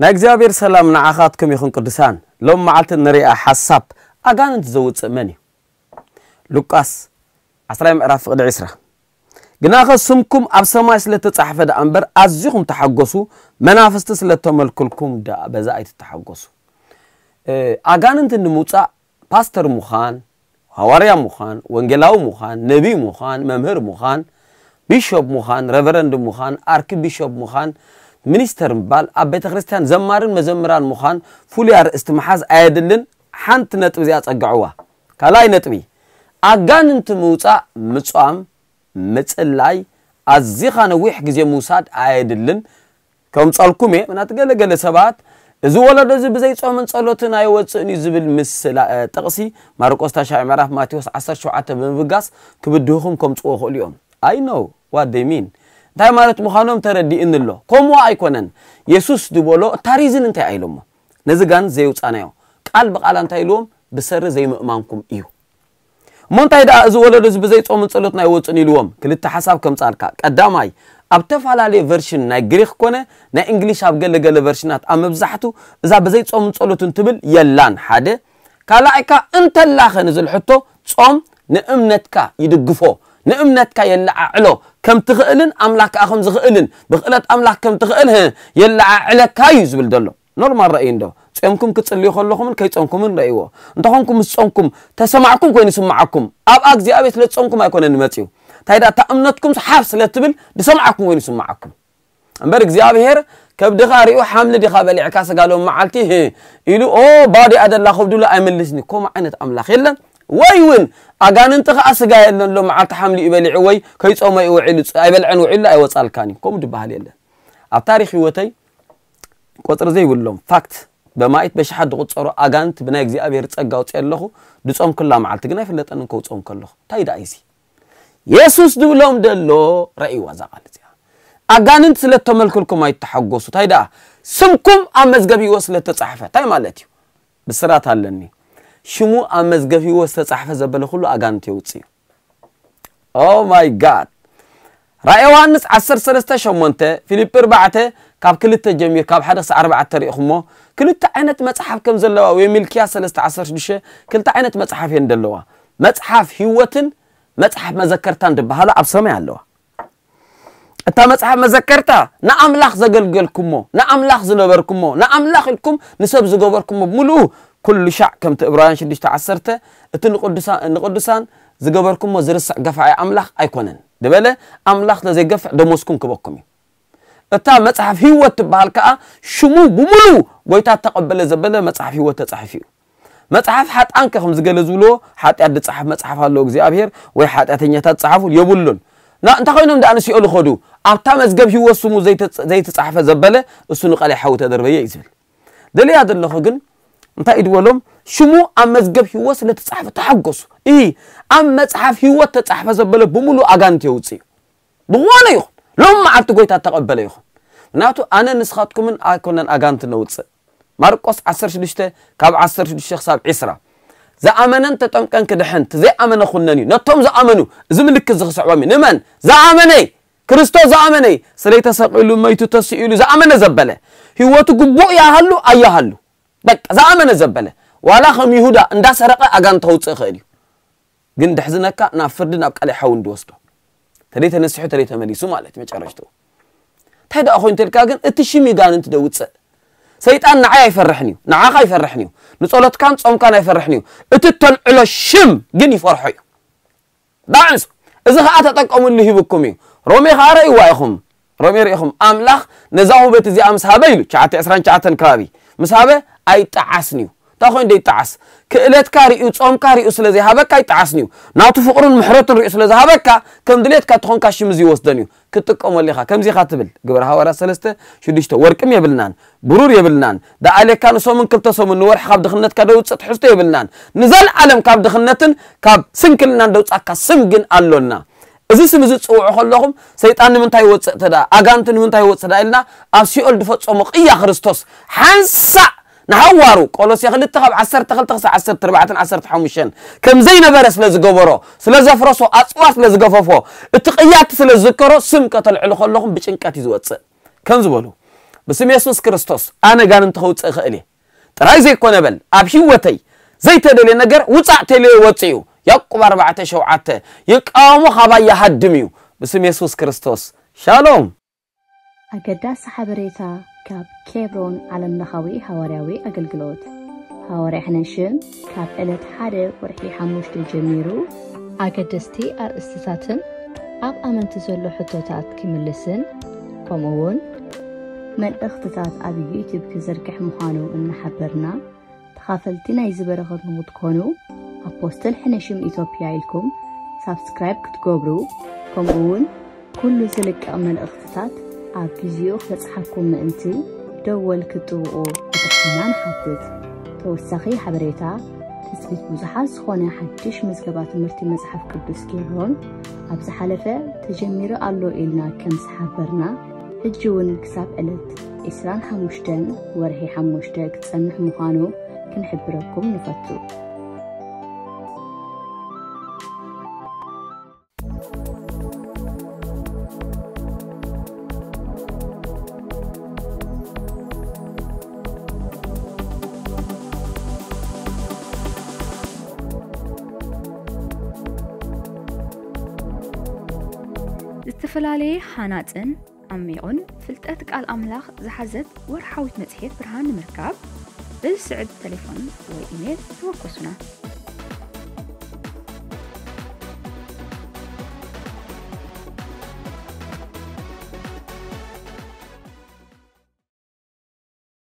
ናይ እግዚኣብሔር ሰላም ንዓኻትኩም ይኹን ቅዱሳን። ሎም መዓልቲ ንሪኣ ሓሳብ ኣጋንንት ዘውፅእ መን እዩ? ሉቃስ ዓስራይ ምዕራፍ ፍቕዲ ዕስራ። ግናኸ ስምኩም ኣብ ሰማይ ስለ ተጻሕፈ ደኣ እምበር ኣዚኹም ተሓጎሱ፣ መናፍስቲ ስለ ተመልኩልኩም ደኣ በዛ ኣይትተሓጎሱ። ኣጋንንት ንምውጻእ ፓስተር ምዃን፣ ሃዋርያ ምዃን፣ ወንጌላዊ ምዃን፣ ነቢይ ምዃን፣ መምህር ምዃን፣ ቢሾፕ ምዃን፣ ረቨረንድ ምዃን፣ ኣርክ ቢሾፕ ምዃን፣ ሚኒስተር ምባል፣ ኣብ ቤተ ክርስቲያን ዘማርን መዘምራን ምዃን ፍሉይ ኣርእስቲ ምሓዝ ኣየድልን። ሓንቲ ነጥቢ እዚኣ ጸግዕዋ። ካልኣይ ነጥቢ፣ ኣጋንንቲ ምውጻእ፣ ምጻም፣ ምጽላይ፣ ኣዚኻ ነዊሕ ግዜ ምውሳድ ኣየድልን። ከምጸልኩም እየ። ምናት ገለ ገለ ሰባት፣ "እዚ ወለዶ እዚ ብዘይ ጾምን ጸሎትን ኣይወጽእን እዩ" ዝብል ምስላ-፣ እ፣ ጥቕሲ ማርቆስ ታሽዓይ ምዕራፍ ማቴዎስ ዓሰርተ ሸውዓተ ብምብጋስ ክብድህኹም ከምጽዎ ይኽእሉ እዮም። I know what they mean። እንታይ ማለት ምዃኖም ተረዲእኒ ኣሎ። ከምኡ ኣይኮነን። የሱስ ዝበሎ እታ ሪዝን እንታይ ኣይሎሞ? ነዚ ጋን ዘየውጻናዮ። ቃል ብቓል እንታይ ኢልዎም? "ብሰሪ ዘይምእማንኩም እዩ።" እሞ እንታይ ደኣ እዚ ወለዶ እዚ ብዘይ ጾምን ጸሎትን ኣይወጽእን ኢልዎም? ክልተ ሓሳብ ከምጻልካ። ቀዳማይ፣ ኣብ ተፈላለየ ቨርሽን ናይ ግሪክ ኮነ ናይ እንግሊሽ ኣብ ገለ ገለ ቨርሽናት ኣብ መብዛሕቱ እዛ ብዘይ ጾምን ጸሎትን ትብል የላን። ሓደ። ካልኣይ ከኣ እንተላኸ ንዝብል ሕቶ ጾም ንእምነትካ ይድግፎ፣ ንእምነትካ የለዓዕሎ፣ ከም ትኽእልን ኣምላኽ ከኣ ከም ዝኽእልን ብኽእለት ኣምላኽ ከም ትኽእል፣ ህ፣ የለዓዕለካ እዩ ዝብል ዘሎ። ኖርማል ራእይ እንዶ። ጾምኩም ክትጽልዩ ከለኹምን ከይጾምኩምን ረእይዎ። እንተኾንኩም ምስ ጾምኩም ተሰማዕኩም ኮይኑ ይስማዓኩም። ኣብ እግዚኣብሔር ስለ ጾምኩም ኣይኮነን መጺኡ። እንታይ ደኣ እታ እምነትኩም ሓፍ ስለ ትብል ዝሰማዓኩም ኮይኑ ይስማዓኩም። እምበር እግዚኣብሔር ከብድኻ ሪኡ ሓምሊ ዲኻ በሊዕካ ስጋ ሎም መዓልቲ፣ ህ፣ ኢሉ፣ "ኦ፣ ባዶ እያ ደላ ከብድሉ ኣይመልስኒ." ከምኡ ዓይነት ኣምላኽ የለን። ወይ እውን ኣጋንንቲ ኸኣ ስጋ የለን ሎም መዓልቲ ሓምሊ እዩ በሊዑ ወይ ከይጾመ እዩ ውዒሉ፣ ፅ-፣ ኣይበልዐን ውዒሉ ኣይወጻልካን እዩ። ከምኡ ድበሃል የለን። ኣብ ታሪኽ ህይወተይ ቁጽሪ ዘይብሎም ፋክት በማኢት በሽሓት ዝቑጸሩ ኣጋንንት ብናይ እግዚኣብሔር ጸጋ ኣውጽኤ ኣለኹ። ድጾምኩላ መዓልቲ ግን ኣይፍለጠንን ከውጽኦም ከለኹ። እንታይ ደኣ እዚ? የሱስ ድብሎም ደሎ ረእይዋ እዛ ቃል እዚኣ። ኣጋንንት ስለ እተመልኩልኩም ኣይተሓጎሱ። እንታይ ደኣ? ስምኩም ኣብ መዝገብ ህይወት ስለ እተጻሕፈ። እንታይ ማለት እዩ? ብስራት ኣለኒ። ሽሙ ኣብ መዝገብ ህይወት ዝተጻሕፈ ዘበለ ኩሉ ኣጋንንት የውጽእ እዩ። Oh my God! ራእየ ዮሃንስ ዓሰርተ ሰለስተ ሸሞንተ፣ ፊልጲ ኣርባዕተ ካብ ክልተ ጀሚር፣ ካብ ሓደ ክሳዕ ኣርባዕተ ሪኢኹሞ፣ ክልተ ዓይነት መጽሓፍ ከም ዘለዋ፣ ወይ ሚልክያስ ሰለስተ ዓሰርተ ሽዱሽተ፣ ክልተ ዓይነት መጽሓፍ እየን ዘለዋ። መጽሓፍ ህይወትን መጽሓፍ መዘከርታን ዝበሃላ ኣብ ሰማይ ኣለዋ። እታ መጽሓፍ መዘከርታ ንኣምላኽ ዘገልገልኩሞ፣ ንኣምላኽ ዝነበርኩሞ፣ ንኣምላኽ ኢልኩም ንሰብ ዝገበርኩሞ ብምሉኡ፣ ኩሉ ሻዕ ከምቲ ዕብራውያን ሽዱሽተ ዓሰርተ፣ እቲ ንቅዱሳ-፣ ንቅዱሳን ዝገበርኩሞ ዝርስዕ ገፋዒ ኣምላኽ ኣይኮነን ዝበለ፣ ኣምላኽ ለዘይገፍዕ ደሞዝኩም ክበኩም እዩ። እታ መጽሓፍ ህይወት ትበሃል ከኣ ሽሙ ብምሉኡ ጎይታ እተቐበለ ዘበለ መጽሓፍ ህይወት ተጻሒፉ እዩ። መጽሓፍ ሓጥኣንከ ከም ዝገለ ዝብልዎ፣ ሓጢኣት ዝጸሓፍ መጽሓፍ ኣሎ እግዚኣብሔር ወይ ሓጢኣተኛታት ጸሓፉ የብሉን። ና-፣ እንታይ ኮይኖም ደኣ ንስኦል ይኸዱ? ኣብታ መዝገብ ህይወት ስሙ ዘይተ-፣ ዘይተጻሕፈ ዘበለ እሱ ንቃላይ ሓዊ ተደርበየ እዩ ዝብል። ደልያ ዘለኹ ግን እንታይ እዩ ዝበሎም? ሽሙ ኣብ መዝገብ ህይወት ስለ ተጻሕፈ ተሓጎሱ። እሂ፣ ኣብ መጽሓፍ ህይወት ተጻሕፈ ዘበለ ብምሉእ ኣጋንንት የውጽእ እዩ። ብዝኾነ ይኹን፣ ሎም መዓልቲ ጎይታ እተቐበለ ይኹን። ምክንያቱ ኣነ ንስኻትኩምን ኣይኮነን ኣጋንንት ነውጽእ። ማርቆስ ዓሰርተ ሽዱሽተ ካብ ዓሰርተ ሽዱሽተ ክሳብ ዕስራ። ዝኣመነን ተጠምቀን ክድሕን፣ እቲ ዘይኣመነ ኩነን እዩ። ነቶም ዝኣመኑ፣ እዚ ምልክት እዚ ክስዕቦም እዩ። ንመን? ዝኣመነ፣ ክርስቶስ ዝኣመነ፣ ስለይ ተሰቒሉ፣ መይቱ፣ ተሲኡ ኢሉ ዝኣመነ ዘበለ፣ ህይወቱ ግቡእ ይሃሉ ኣይሃሉ፣ በቃ ዝኣመነ ዘበለ፣ ዋላ ከም ይሁዳ እንዳሰረቐ ኣጋንንት ከውጽእ ይኽእል እዩ። ግን ድሕዝነካ ናብ ፍርዲ፣ ናብ ቀላይ ሓዊ እንድወስዶ። ተደይ ተነሲሑ፣ ተደይ ተመሊሱ ማለት እዩ መጨረሽትኡ። እንታይ ደኣ ኮይኑ ተልካ ግን እቲ ሽም ይጋንንት ደውጽእ። ሰይጣን ንዓይ ኣይፈርሕን እዩ፣ ንዓኻ ኣይፈርሕን እዩ፣ ንጸሎትካን ጾምካን ኣይፈርሕን እዩ። እቲ ተልዕሎ ሽም ግን ይፈርሖ እዩ። ዳዕንሱ። እዚ ኸኣ ተጠቀሙሉ ሂብኩም እዩ። ሮሜ ኸኣ ረእይዋ ኢኹም። ሮሜ ርኢኹም። ኣምላኽ ነዛ ውህበት እዚኣ ምስ ሃበ ኢሉ፣ ትሽዓተ ዕስራን ትሽዓተን ከባቢ፣ ምስ ሃበ ኣይጠዓስን እዩ። እንታይ ኮይኑ ደይጠዓስ? ክእለትካ ርእዩ፣ ጾምካ ርእዩ ስለ ዘይሃበካ ኣይጠዓስን እዩ። ናቱ ፍቕሩን ምሕረቱን ርእዩ ስለ ዝሃበካ፣ ከም ድሌትካ ተኾንካ ሽም እዚ ይወስደን እዩ። ክትጥቀመሉ ኢኻ። ከምዚ ኢኻ ትብል። ግብረ ሃዋርያት ሰለስተ ሽዱሽተ፣ ወርቅም የብልናን፣ ብሩር የብልናን። ደኣ ኣሌካ ንሰሙን ክልተ ሰሙን ንወርሒ ካብ ድኽነትካ ደውጽእ ትሕዝቶ የብልናን። ንዘለዓለም ካብ ድኽነትን ካብ ስንክልናን ደውጻካ ስም ግን ኣሎና። እዚ ስም እዚ ትጽውዑ ከለኹም ሰይጣን ንምንታይ ይወፅእ ተዳ ኣጋንቱ ንምንታይ ይወፅእ ተዳ ኢልና ኣብ ሲኦል ዝፈፀሞ ቅያ ክርስቶስ ሓንሳእ ንሃዋሩ ቆሎሴ ክልተ ካብ ዓሰርተ ክልተ ክሳብ ዓሰርተ ኣርባዕተን ዓሰርተ ሓሙሽተን ከም ዘይነበረ ስለ ዝገበሮ ስለ ዘፍረሶ ኣፅዋ ስለ ዝገፈፎ እቲ ቅያቲ ስለ ዝዝከሮ ስም ከተልዕሉ ከለኹም ብጭንቀት እዩ ዝወፅእ ከም ዝበሉ ብስም የሱስ ክርስቶስ ኣነ ጋንንቲ ከውፅእ እኽእል እየ ጥራይ ዘይኮነ በል ኣብ ህይወተይ ዘይተደልየ ነገር ውፃእ ተልዮ ይወፅእ እዩ ያዕቆብ ኣርባዕተ ሸውዓተ ይቃወሞ ካባይ ይሃድም እዩ ብስም የሱስ ክርስቶስ ሻሎም ኣገዳሲ ሓበሬታ ካብ ኬብሮን ዓለምለኻዊ ሃዋርያዊ ኣገልግሎት። ሃዋርያ ሕነሽም ካብ ዕለት ሓደ ወርሒ ሓሙሽተ ጀሚሩ ኣገደስቲ ኣርእስትታትን ኣብ ኣመንቲ ዘሎ ሕቶታት ክምልስን ከምኡ እውን መልእኽትታት ኣብ ዩቲዩብ ክዝርግሕ ምዃኑ እናሓበርና ተኻፈልቲ ናይዚ በረኸት ንኽትኮኑ ኣፖስትል ሕነሽም ኢትዮጵያ ኢልኩም ሳብስክራይብ ክትገብሩ ከምኡ እውን ኩሉ ዝልቀቕ መልእኽትታት ኣብ ጊዜኡ ክበጽሓኩም ምእንቲ ደወል ክትጥውቑ ብትሕትና ንሓትት። ተወሳኺ ሓበሬታ ትጽቢት ብዙሓት ዝኾነ ሓድሽ ምዝገባ ትምህርቲ መጽሓፍ ቅዱስ ኬብሮን ኣብ ዝሓለፈ ተጀሚሩ ኣሎ ኢልና ከም ዝሓበርና ሕጂ እውን ክሳብ ዕለት ዕስራን ሓሙሽተን ወርሒ ሓሙሽተ ክጸንሕ ምዃኑ ክንሕብረኩም ንፈቱ። ዝተፈላለየ ሃናጽን ዓሚቑን ፍልጠት ቃል ኣምላኽ ዝሓዘት ወርሓዊት መጽሔት ብርሃን ንምርካብ በዚ ስዕብ ተሌፎን ወይ ኢሜል ተወከሱና።